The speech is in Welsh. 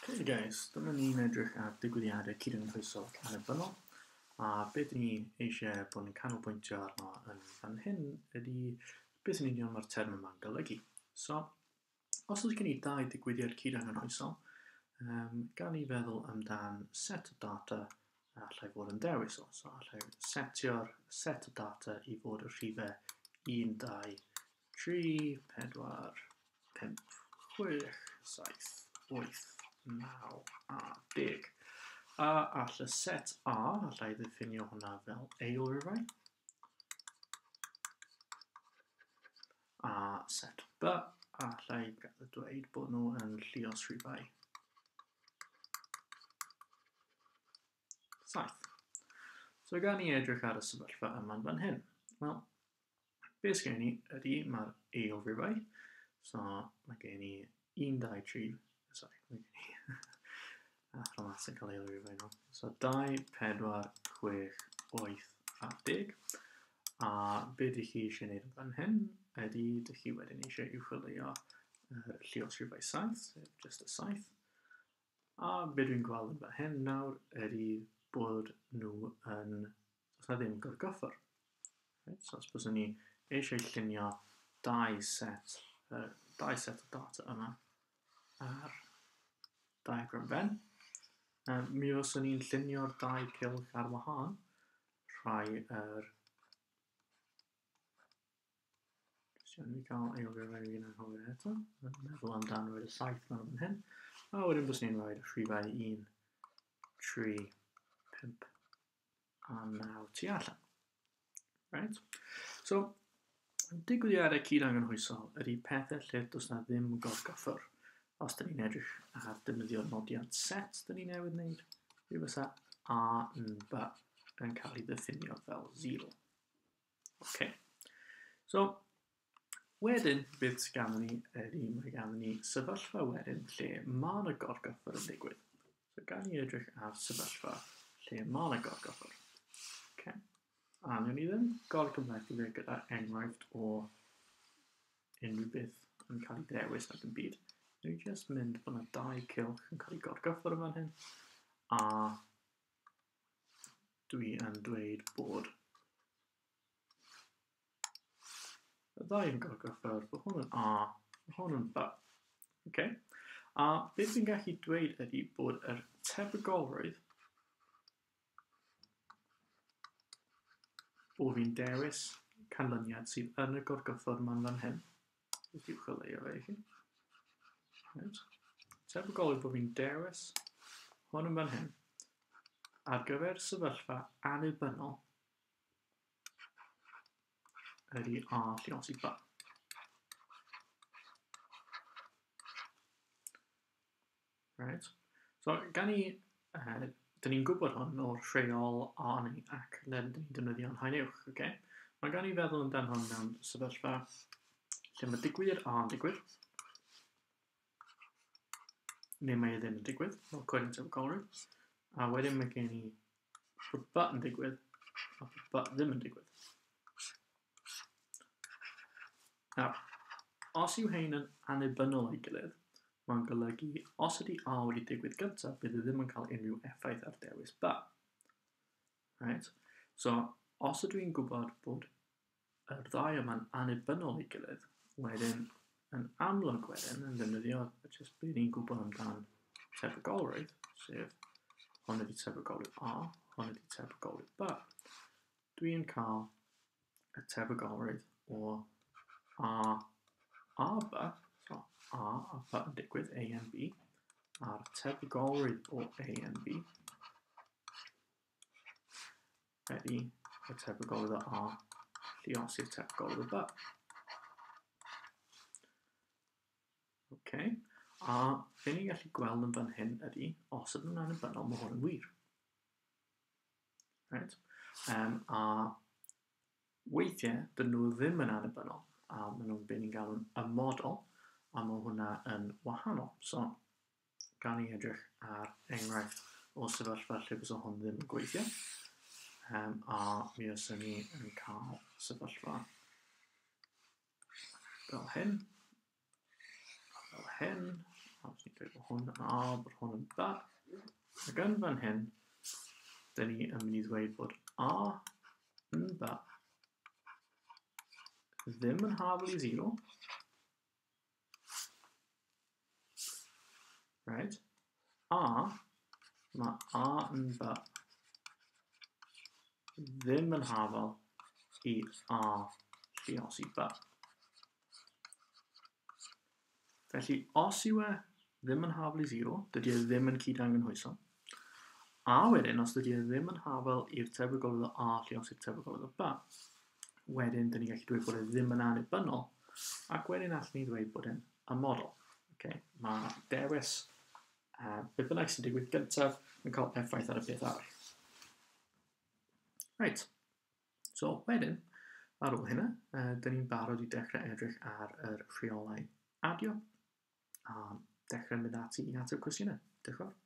Hey guys, dyma ni'n edrych ar digwyddiadau cydymffrysol ac annibynnol, a beth ni eisiau bod yn canolbwyntio arno yn fan hyn ydy beth yn union mae'r term yma'n golygu. So, os oes gen i dau digwyddiad cyd-anghynhwysol, gan i feddwl amdan set o data a allai fod yn dewis o. So, allai setio'r set o data i fod y rhifau 1, 2, 3, 4, 5, 6, 7, 8, 9 a 10. A all y set A, allai ddiffinio hwnna fel eilrifau. A set B, allai dweud bod nhw yn lluos rhifau 7. So gan i edrych ar y sefyllfa yma'n fan hyn. Wel, beth sgen i ydy mae'r eilrifau. So mae gen i 1, 2, 3, sorry, mae gen i athro maths yn cael eilrifau nhw. So 2, 4, 6, 8 a 10. A be dych chi eisiau gwneud yn fan hyn ydy dych chi wedyn eisiau uwcholeuo yr lluos rhifau 7, sef just y 7. A be dwi'n gweld yn fan hyn nawr ydy bod nhw yn... does na ddim gorgyffwr. Right? So os byswn ni eisiau llunio dau set, dau set o data yma ar diagram Venn, mi fyswn ni'n llunio'r dau cylch ar wahân, rhai yr... Jyst iawn i fi cael eilio fe fi'n anghofio eto. Meddwl amdan roed y 7 mewn fan hyn. A wedyn byswn ni'n rhoi rhifau 1, 3, 5 a 9 tu allan. Right? So, digwyddiadau cyd-anghynhwysol ydy pethau lle does na ddim gorgyffwr. Os dyn ni'n edrych ar defnyddio'r nodiant set dyn ni newydd wneud, mi fysa A yn B yn cael ei ddiffinio fel 0. Okay. So, wedyn, beth sydd ganddyn ni ydy mae ganddyn ni sefyllfa wedyn lle mae yna gorgyffwr yn digwydd. So, gan ni edrych ar sefyllfa lle mae yna gorgyffwr. Okay. A wnawn ni ddim gorgymhlethu fe gyda enghraifft o unrhyw beth yn cael ei ddewis nac yn byd. Wnawn ni jyst mynd bod yna dau cylch yn cael ei gorgyffwr yn fan hyn, a dwi yn dweud bod y ddau yn gorgyffwr, bod hwn yn A, bod hwn yn B. Okay. A beth dwi'n gallu dweud ydy bod yr tebygolrwydd bo fi'n dewis canlyniad sydd yn y gorgyffwr ma'n fan hyn. Beth yw chwilio fe i chi? Right. Tebygol yw bod fi'n dewis hwn yn fan hyn ar gyfer sefyllfa annibynnol ydy A lluosi B. Right. So, gan i, dyn ni'n gwybod hwn o'r rheol A neu ac, then dyn ni'n defnyddio'n haen uwch, okay? Mae gan i feddwl amdan hwn mewn sefyllfa lle mae digwyddiad A yn digwydd, neu mae e ddim yn digwydd, fel coed yn tebygolrwydd, a wedyn mae gen i bod B yn digwydd, a bod B ddim yn digwydd. Nawr, os yw hein yn annibynnol o'i gilydd, mae'n golygu os ydy A wedi digwydd gyntaf, bydd e ddim yn cael unrhyw effaith ar dewis B. Right? So, os ydw i'n gwybod bod yr ddau yma'n annibynnol o'i gilydd, wedyn, yn amlwg wedyn, yn ddefnyddio jyst be ni'n gwybod amdan tebygolrwydd, sef hwn ydy tebygolrwydd A, hwn ydy tebygolrwydd B. Dwi'n cael y tebygolrwydd o A a B, so A a B yn digwydd, A and B, a'r tebygolrwydd o A and B ydy y tebygolrwydd o A lluosi'r tebygolrwydd o B. Okay. A be ni'n gallu gweld yn fan hyn ydy, os ydyn nhw'n annibynnol, mae hwn yn wir. Right? A weithiau, dyn nhw ddim yn annibynnol, a maen nhw'n be ni'n galw'n ymodol, a mae hwnna yn wahanol. So, gan i edrych ar enghraifft o sefyllfa lle bysa hwn ddim yn gweithio, a mi fyswn ni yn cael sefyllfa fel hyn, a fel hyn, Os ni'n dweud bod hwn yn A, bod hwn yn B. Ac yn fan hyn, dyn ni yn mynd i ddweud bod A yn B ddim yn hafal i 0. Right. A, mae A yn B ddim yn hafal i A lluosi B. Felly, os yw e ddim yn hafal i 0, dydy e ddim yn cyd-angynhwyso. A wedyn, os dydy e ddim yn hafal i'r tebygolrwydd o A lluosi'r tebygolrwydd o B, wedyn dyn ni'n gallu dweud bod e ddim yn annibynnol, ac wedyn allwn ni ddweud bod e'n amodol. Okay? Mae dewis beth bynnag sy'n digwydd gyntaf yn cael effaith ar y peth arall. Reit. So, wedyn, ar ôl hynna, dyn ni'n barod i dechrau edrych ar yr rheolau adio a dechrau mynd ati i ateb cwestiynau. Diolch yn fawr.